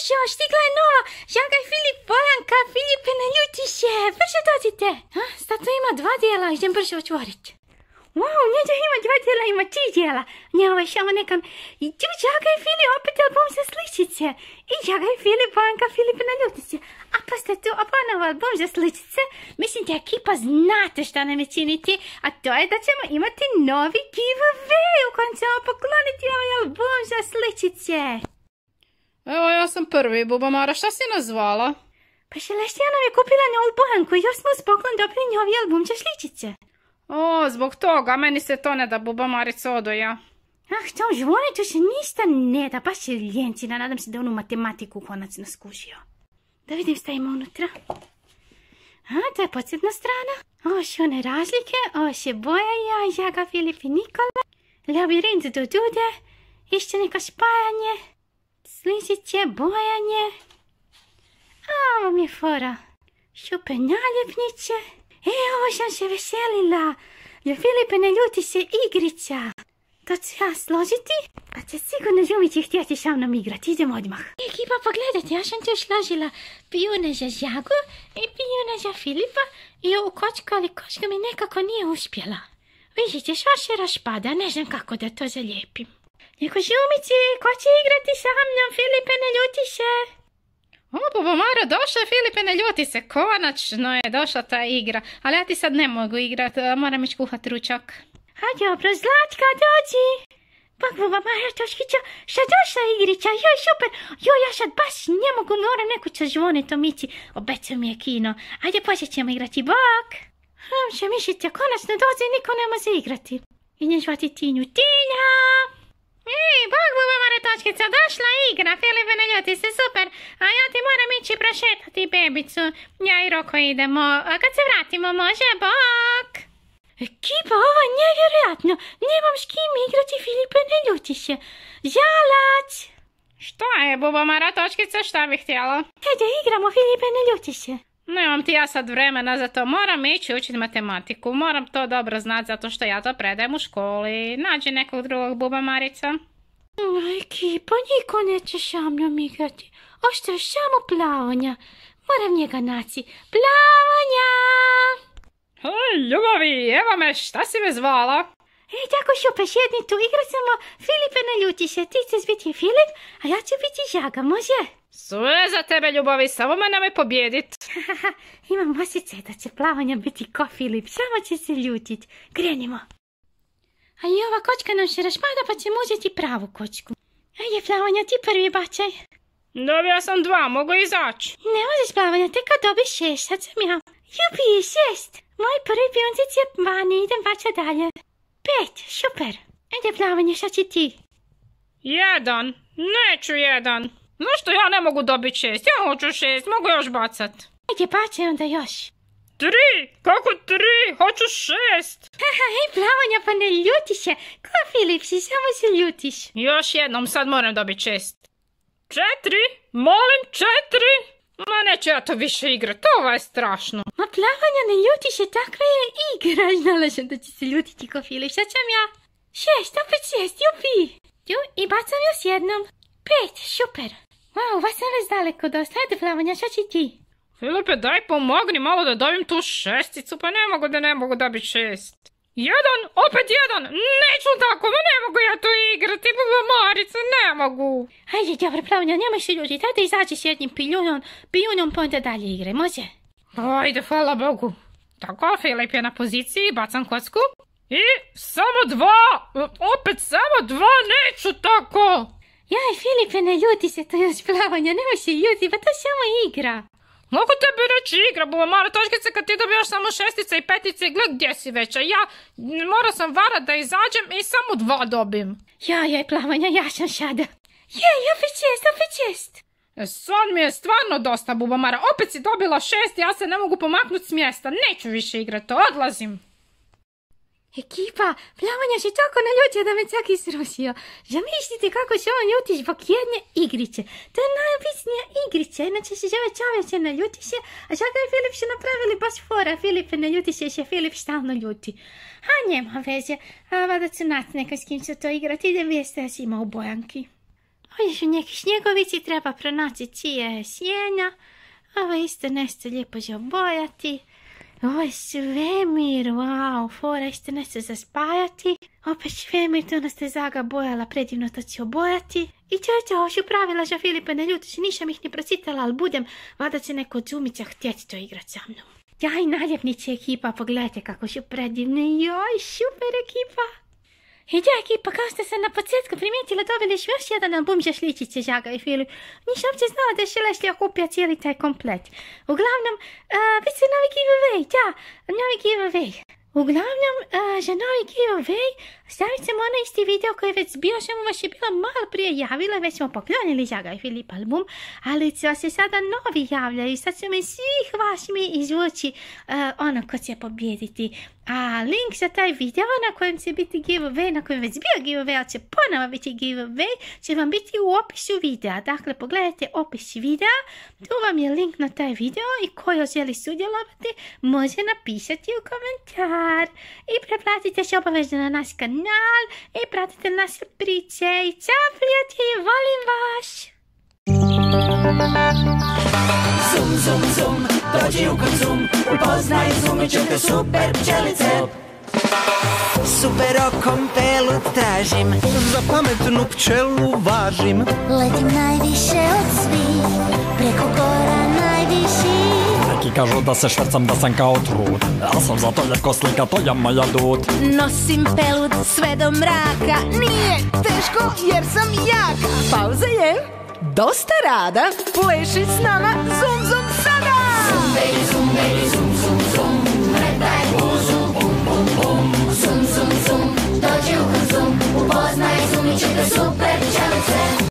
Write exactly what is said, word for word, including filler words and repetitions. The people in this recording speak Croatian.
Jošo, stigla je nova. Žaga i Filip, Bojanka, Filipe, ne ljuti se. Brže dođite. Stato ima dva dijela, idem brže otvoriti. Wow, njeđa ima dva dijela, ima tri dijela. Nje ovaj šamo nekam. I tu Žaga i Filip, opet album za sličice. I Žaga i Filip, Bojanka, Filipe, ne ljuti se. A pa ste tu oponovo album za sličice. Mislim da ekipa znate šta nam je činiti. A to je da ćemo imati novi giveaway u kojem ćemo pokloniti ovaj album za sličice. Evo, ja sam prvi, Bubamara, šta si nazvala? Pa Šeleštija nam je kupila novu Bojanku i još smo uz poklon dobili novi album za sličice. O, zbog toga, meni se to ne da, Bubamarica, odoja. Ah, tom žvone, tu se ništa ne da, baš je ljencina, nadam se da onu matematiku konačno skužio. Da vidim šta ima unutra. A, to je podsjetna strana. Ovo su one razlike, ovo se Boja, Žaga, Filip i Nikola. Labirint do Dude, išće neko spajanje. Sličice, bojanje. A, ovo mi je fora. Šupe naljepnice. E, ovo sam se veselila. Jer Filipe, ne ljuti se igrica. To ću ja složiti, pa će sigurno Žumići htjeti sa mnom igrati. Idemo odmah. Ekipa, pogledajte, ja sam tu složila pijune za Žagu i pijune za Filipa i ovu kočku, ali kočka mi nekako nije uspjela. Vidite, sva se raspada, ne znam kako da to zalijepim. Neko Žumići, ko će igrati sa mnom? Filipe, ne ljuti se. O, Bubamara, došla je, Filipe, ne ljuti se. Konačno je došla ta igra. Ali ja ti sad ne mogu igrat, moram ići kuhat ručak. A dobro, Zlatka, dođi. Bog, Bubamara, Toškića, šta došla igrića? Joj, super. Joj, ja sad baš ne mogu, moram neku će zvoniti omici. Obećao mi je kino. Ajde, počet ćemo igrati, bok. Hm, što mislite, konačno dođe i niko ne može igrati. I nje zvati Tinju. Tinja! Ej, bog, Bubamara, Toškica, došla igra. Filipe, ne ljuti se, super. A ja ti moram ići prošetati bebicu. Ja i Roko idemo. A kad se vratimo, može, bok. Ekipa, ovo je nevjerojatno. Nemam s kim igrati, Filipe, ne ljuti se. Žalac! Šta je, Bubamara, Točkica, šta bih htjela? Hajde, igramo, Filipe, ne ljuti se. Nemam ti ja sad vremena za to, moram ići učiti matematiku. Moram to dobro znati zato što ja to predajem u školi. Nađi nekog drugog, Bubamarica. Ekipa, niko neće sa mnom igrati. Ostaje samo Plavonja. Moram njega naći. Plavonja! Hej, ljubavi, evo me, šta si me zvala? Ej, tako šupe, sjedni tu, igrat ćemo. Filipe, ne ljuti se, ti ćeš biti Filip, a ja ću biti Žaga, može? Sve za tebe, ljubavi, samo me nemoj pobjedit. Imam osjećaj da će Plavonja biti ko Filip, samo će se ljutit. Krenimo. A i ova kočka nam se raspada, pa ćemo uzeti pravu kočku. Ajde, Plavonja, ti prvi bačaj. Dobio sam dva, mogu izaći. Ne možeš, Plavonja, tek kad dobiš šest, sad sam ja. Jupi, šest. Moj prvi piončić je vani, idem bača dalje. Pet, super. Ajde, Plavonja, šta će ti? Jedan, neću jedan. Zašto ja ne mogu dobiti šest? Ja hoću šest, mogu još bacat. Ajde, bačaj onda još. Tri, kako tri? Hoću šest. Haha, hej, Plavonja, pa ne ljuti se. Ko Filip si, samo se ljutiš. Još jednom, sad moram dobiti šest. Četiri, molim, četiri. Ma neću ja to više igrat, ovo je strašno. Ma Plavonja, ne ljuti se, takva je igra. Znala sam da će se ljutiti ko Filip, sad sam ja. Šest, opet šest, jupi. Tu, i bacam još jednom. Pet, super. Wow, vas sam već daleko dosta. Ajde, Plavonja, šta će ti? Filipe, daj pomogni malo da dobim tu šesticu, pa ne mogu da ne mogu dobiti šest. Jedan, opet jedan, neću tako, ma ne mogu ja tu igrati, Bubamarica, ne mogu. Ajde, dobro, Plavonja, nemoj se ljutiti, ajde izađi s jednim piljunom, piljunom pa onda dalje igre, može? Ajde, hvala Bogu. Tako, Filip je na poziciji, bacam kocku. I samo dva, opet samo dva, neću tako. Jaj, Filipe, ne ljuti se to još, Plavonja, nemoj se ljuti, pa to je samo igra. Mogu tebi reći igra, Bubamara, Točkice, kad ti dobijaš samo šestice i petice, gled gdje si veća. Ja morao sam varat da izađem i samo dva dobim. Jaj, jaj, Plavonja, ja sam sada. Jej, opet šest, opet šest. Sad mi je stvarno dosta, Bubamara, opet si dobila šest, ja se ne mogu pomaknuti s mjesta, neću više igrati, odlazim. Ekipa, Plavonja se tako naljutio da me čak isrušio. Zamislite kako se on ljuti zbog jedne igrice. To je najobičnija igrica, inače se zove čovječe ne ljuti se, a Žaga i Filip su napravili baš fora. Filipe ne ljuti se, se Filip stalno ljuti. A nema veze, a vada ću naći neka s kim će to igrati, idem vijeste ja si ima u Bojanki. Ovdje su neki snjegovici, treba pronaći čije sjenja. Ovo isto nešto lijepo za obojati. Ovo je svemir, wow, fora isto nešto za spajati. Opet svemir, to nas te Zaga bojala, predivno to će obojati. I to je to, ovo su pravila za Filipa, ne ljuti se, nisam ih ni procitala, ali budem, vada će neko od Zumića htjeti to igrat sa mnom. Jaj, naljepnice ekipa, pogledajte kako su predivne, joj, super ekipa. I da ekipa, kao ste se na početku primijetila, dobili su još jedan album za sličice Zaga i Filip. Nisam uopće znala da je Leslie okupio cijeli taj komplet. Uglavnom, uh, bit će novi giveaway, da, novi giveaway. Uglavnom, uh, za novi giveaway stavit ćemo onaj isti video koji je već bio, samo vas je bilo malo prije javila, već smo poklonili Zaga i Filip album, ali će se sada novi javljaju, sad ćemo i svih vas mi izvući uh, ono ko će pobjediti. A link za taj video na kojem će biti giveaway, na kojem već bio giveaway, ali će ponovo biti giveaway, će vam biti u opisu videa. Dakle, pogledajte opis videa, tu vam je link na taj video i ko želi sudjelovati može napisati u komentar. I preplatite se obavezno na naš kanal i pratite naše priče. I čao prijatelji, volim vas! Zum, zum, zum, dođi u Konzum, upoznaj Zumićevke super pčelice. Super okom pelu tražim, za pametnu pčelu važim. Letim najviše od svih, preko gora najviši. Neki kažu da se švrcam, da sam kao trud. Ja sam zato ljepko slika, to je moja dud. Nosim pelud sve do mraka, nije teško jer sam jaka. Pauza je dosta rada, pleši s nama zum zum sada. zum, baby, zum, baby, zum, zum, zum, ne daj buzu, bum, bum, bum. Zum, zum, zum, dođi u Konzum, upoznaj Zumićevke super pčelice.